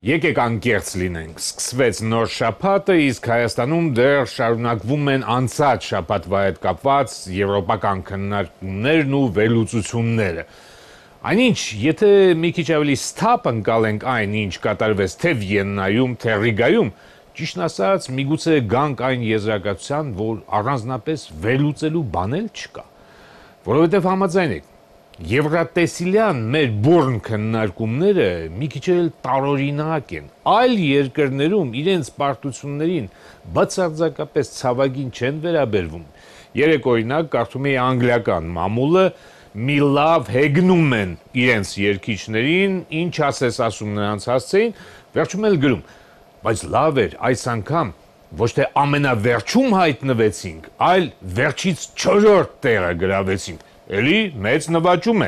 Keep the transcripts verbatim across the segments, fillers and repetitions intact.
Եկեք անկեղծ լինենք, սկսվեց նոր շաբաթը, իսկ Հայաստանում դեռ շարունակվում են անցած շաբաթվա հետ կապված եվրոպական քննարկումներն ու վերլուծությունները։ Այնինչ, եթե մի քիչ ավելի սթափ ընկալենք այն, ինչ կատարվեց թե Վիեննայում, թե Ռիգայում, ճիշտն ասած, միգուցե գանք այն եզրակացության, որ առանձնապես վերլուծելու բան էլ չկա, որովհետև համաձայն եք, Եվրատեսիլյան մեր բուրն քննարկումները մի քիչ էլ տարօրինակ են, այլ երկրներում իրենց պարտություններին բացարձակապես ցավագին չեն վերաբերվում։ Երեք օրինակ կարդում էի անգլիական մամուլը մի լավ հեգնում են իրենց երկիչներին, ինչ ասես ասում նրանց հասցեին, վերջում էլ գրում, բայց լավ էր այս անգամ ոչ թե ամենավերջում հայտնվեցինք, այլ վերջից չորրորդ տեղը գրավեցինք, էլի մեծ նվաճում է,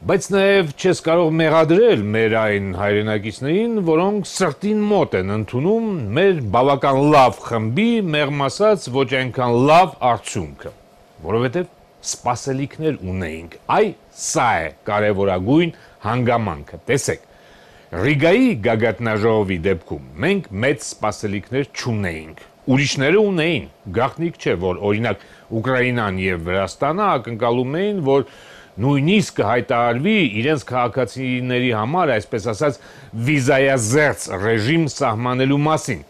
բայց նաև չես կարող մեղադրել մեր այն հայրենակիցներին, որոնք սրտին մոտ են ընդունում մեր բավական լավ խմբի, մեղմ ասած, ոչ այնքան լավ արդյունքը, որովհետև սպասելիքներ ունեինք, այ սա է կարևորագույն հանգամանքը, տեսեք, Ռիգայի գագաթնաժողովի դեպքում մենք մեծ սպասելիքներ չունեինք, ուրիշները ունեին, գաղտնիք չէ, որ օրինակ Ուկրաինան եւ Վրաստանը ակնկալում էին, որ նույնիսկ կհայտարարվի իրենց քաղաքացիների համար, այսպես ասած, վիզայազերծ ռեժիմ սահմանելու մասին։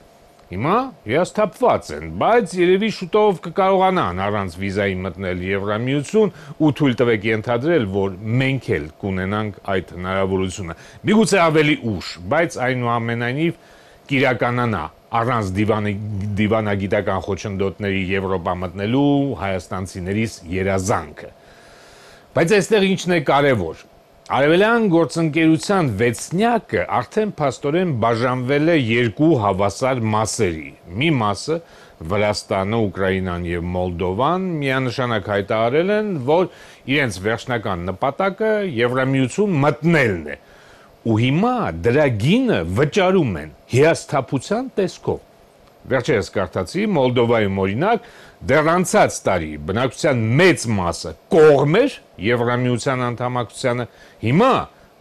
Հիմա հիասթափված են, բայց երևի շուտով կկարողանան առանց վիզայի մտնել Եվրամիություն ու թույլ տվեք ենթադրել, որ մենք էլ կունենանք այդ հնարավորությունը։ Միգուցե ավելի ուշ, բայց այնուամենայնիվ կիրականանա առանց դիվանի, դիվանագիտական խոչընդոտների Եվրոպա մտնելու հայաստանցիներիս երազանքը։ Բայց այստեղ ինչն է կարևոր։ Արևելյան գործընկերության վեցնյակը արդեն փաստորեն բաժանվել է երկու հավասար մասերի։ Մի մասը Վրաստանը, Ուկրաինան եւ Մոլդովան միանշանակ հայտարարել են, որ իրենց վերջնական նպատակը Եվրամիություն մտնելն է։ Ու հիմա դրա գինը վճարում են հիասթափության տեսքով։ Վերջերս կարդացի Մոլդովայում օրինակ դեռ անցած տարի բնակչության մեծ մասը կողմ էր Եվրամիության անդամակցությանը, հիմա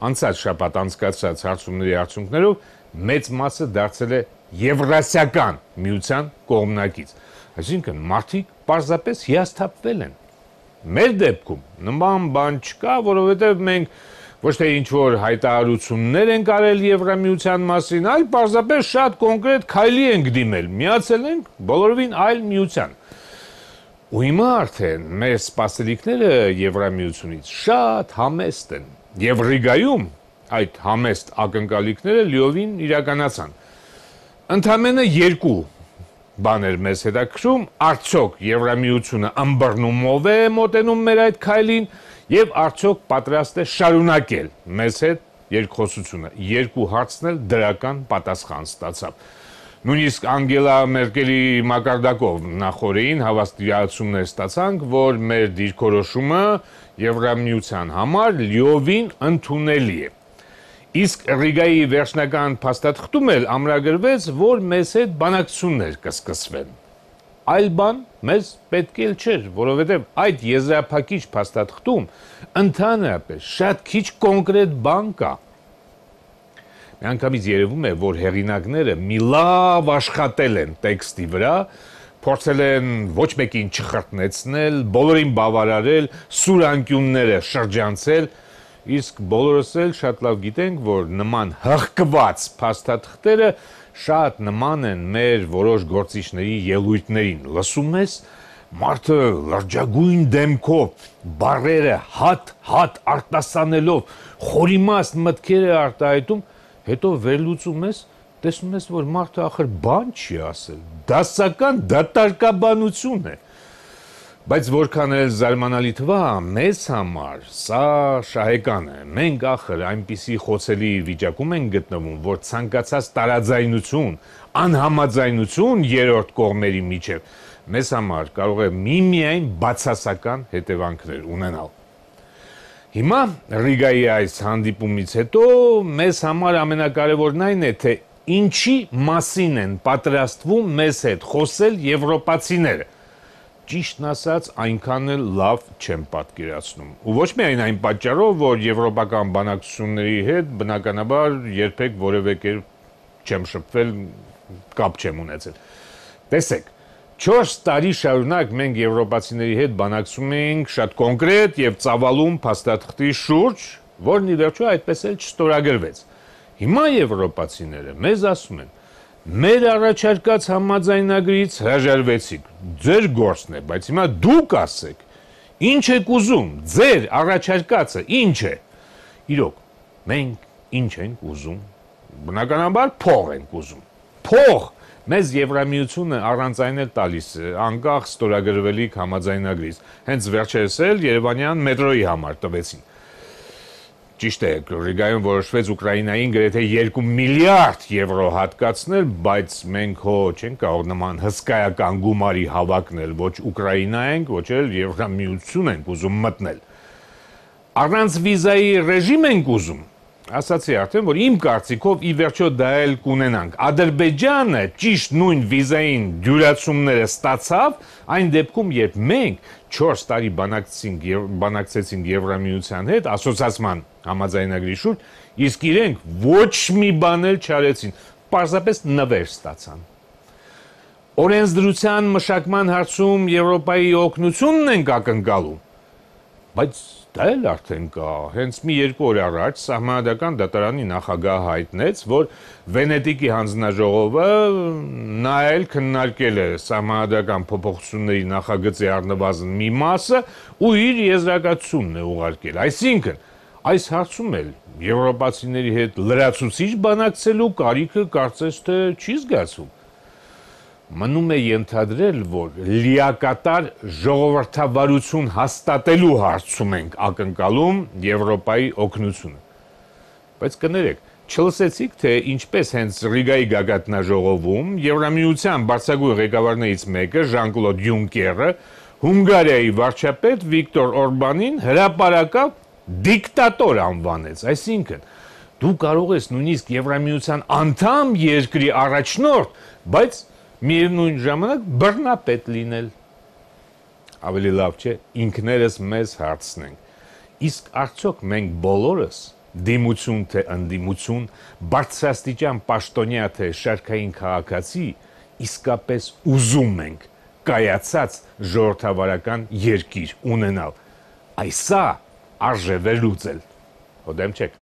անցած շաբաթ անցկացրած հարցումների արդյունքներով մեծ մասը դարձել է Եվրասիական միության կողմնակից։ Այսինքն մարդիկ պարզապես հիասթափվել են։ Մեր դեպքում նման բան չկա, որովհետև մենք ոչ թե ինչ-որ հայտարարություններ ենք արել Եվրամիության մասին, այլ պարզապես շատ կոնկրետ քայլի ենք դիմել, միացել ենք բոլորովին այլ միության։ Ու հիմա արդեն մեր սպասելիքները Եվրամիությունից շատ համեստ են, եւ Ռիգայում այդ համեստ ակնկալիքները լիովին իրականացան։ Ընդամենը երկու բաներ մեզ հետաքրում, արդյոք Եվրամիությունը ըմբռնումով է մոտենում մեր այդ քայլին, եւ արդյոք պատրաստ է շարունակել մեզ հետ երկխոսությունը։ Երկու հարցն էլ դրական պատասխան ստացավ։ Նույնիսկ Անգելա Մերկելի մակարդակով նախորդին հավաստիացումներ ստացանք, որ մեր դիրքորոշումը Եվրամիության համար լիովին ընդունելի է։ Իսկ Ռիգայի վերջնական փաստաթղթում էլ ամրագրվեց, որ մեզ հետ բանակցություններ կսկսվեն։ Այլ բան մեզ պետք էլ չէր, որովհետև այդ եզրափակիչ փաստաթղթում ընդհանրապես շատ քիչ կոնկրետ բան կա։ Միանգամից երևում է, որ հեղինակները մի լավ աշխատել են տեքստի վրա, փորձել են ոչ մեկին չխրտնեցնել, բոլորին բավարարել, սուրանկյունները շրջանցել, իսկ բոլորս էլ շատ լավ գիտենք, որ նման հղկված փաստաթղթերը շատ նման են մեր որոշ գործիչների ելույթներին, լսում ես, մարդը լրջագույն դեմքով, բառերը հատ-հատ արտասանելով, խորիմաստ մտքեր է արտահայտում, հետո վերլուծում ես, տեսնում ես, որ մարդը ախր բան չի ասել, դասական դատարկաբանություն է։ Բայց որքան էլ զարմանալի թվա, մեզ համար սա շահեկան է, մենք ախր այնպիսի խոցելի վիճակում ենք գտնվում, որ ցանկացած տարաձայնություն, անհամաձայնություն երրորդ կողմերի միջև մեզ համար կարող է միմիայն բացասական հետևանքներ ունենալ։ Հիմա Ռիգայի այս հանդիպումից հետո մեզ համար ամենակարևորն այն է, թե ինչի մասին են պատրաստվում մեզ հետ խոսել եվրոպացիները։ ճիշտն ասած այնքան էլ լավ չեմ պատկերացնում։ Ու ոչ միայն այն պատճառով, որ եվրոպական բանակցությունների հետ բնականաբար երբեք որևէ կերպ չեմ շփվել, կապ չեմ ունեցել։ Տեսեք, չորս տարի շարունակ մենք եվրոպացիների հետ բանակցում էինք շատ կոնկրետ եւ ծավալուն փաստաթղթի շուրջ, որն ի վերջո այդպես էլ չստորագրվեց։ Հիմա եվրոպացիները մեզ ասում են. մեր առաջարկած համաձայնագրից հրաժարվեցիք, ձեր գործն է, բայց հիմա դուք ասեք, ինչ եք ուզում, ձեր առաջարկածը ինչ է։ Իրոք, մենք ինչ ենք ուզում, բնականաբար փող ենք ուզում, փող, մեզ Եվրամիությունը առանց այն էլ տալիս է, անկախ ստորագրվելիք համաձայնագրից, հենց վերջերս էլ Երևանյան մետրոյի համար տվեցին։ Ճիշտ է, Ռիգայում որոշվեց Ուկրաինային գրեթե երկու միլիարդ եվրո հատկացնել, բայց մենք հո չենք կարող նման հսկայական գումարի հավակնել, ոչ Ուկրաինա ենք, ոչ էլ Եվրամիություն ենք ուզում մտնել։ Առանց վիզայի ռեժիմ ենք ուզում, ասացի արդեն, որ իմ կարծիքով ի վերջո դա էլ կունենանք։ Ադրբեջանը ճիշտ նույն վիզային դյուրացումները ստացավ, այն դեպքում, երբ մենք չորս տարի բանակցեցինք Եվրամիության հետ, ասոցիացման համաձայնագրի շուրջ, իսկ իրենք ոչ մի բան էլ չարեցին, պարզապես նվեր ստացան։ Օրենսդրության մշակման հարցում Եվրոպայի օգնությունն ենք ակնկալում, բայց դա էլ արդեն կա, հենց մի երկու օր առաջ Սահմանադրական դատարանի նախագահը հայտնեց, որ Վենետիկի հանձնաժողովը նայել քննարկել է Սահմանադրական փոփոխությունների նախագծի առնվազն մի մասը ու իր եզրակացությունն է ուղարկել։ Այսինքն, այս հարցում էլ եվրոպացիների հետ լրացուցիչ բանակցելու կարիքը կարծես թե չի զգացում։ Մնում է ենթադրել, որ լիակատար ժողովրդավարություն հաստատելու հարցում ենք ակնկալում Եվրոպայի օգնությունը։ Բայց կներեք, չլսեցիք, թե ինչպես հենց Ռիգայի գագաթնաժողովում Եվրամիության բարձրագույն ղեկավարներից մեկը Ժան-Կլոդ Յունկերը Հունգարիայի վարչապետ Վիկտոր Օրբանին հրապարակավ դիկտատոր անվանեց, այսինքն դու կարող ես նույնիսկ Եվրամիության անդամ երկրի առաջնորդ, բայց միևնույն ժամանակ բռնապետ լինել։ Ավելի լավ չէ, ինքներս մեզ հարցնենք, իսկ արդյոք մենք բոլորս, դիմություն թե ընդդիմություն, բարձրաստիճան պաշտոնյա թե շարքային քաղաքացի, իսկապես ուզում ենք կայացած ժողովրդավարական երկիր ունենալ։ Այսա արժե վերլուծել։ Հոդեմ չեք։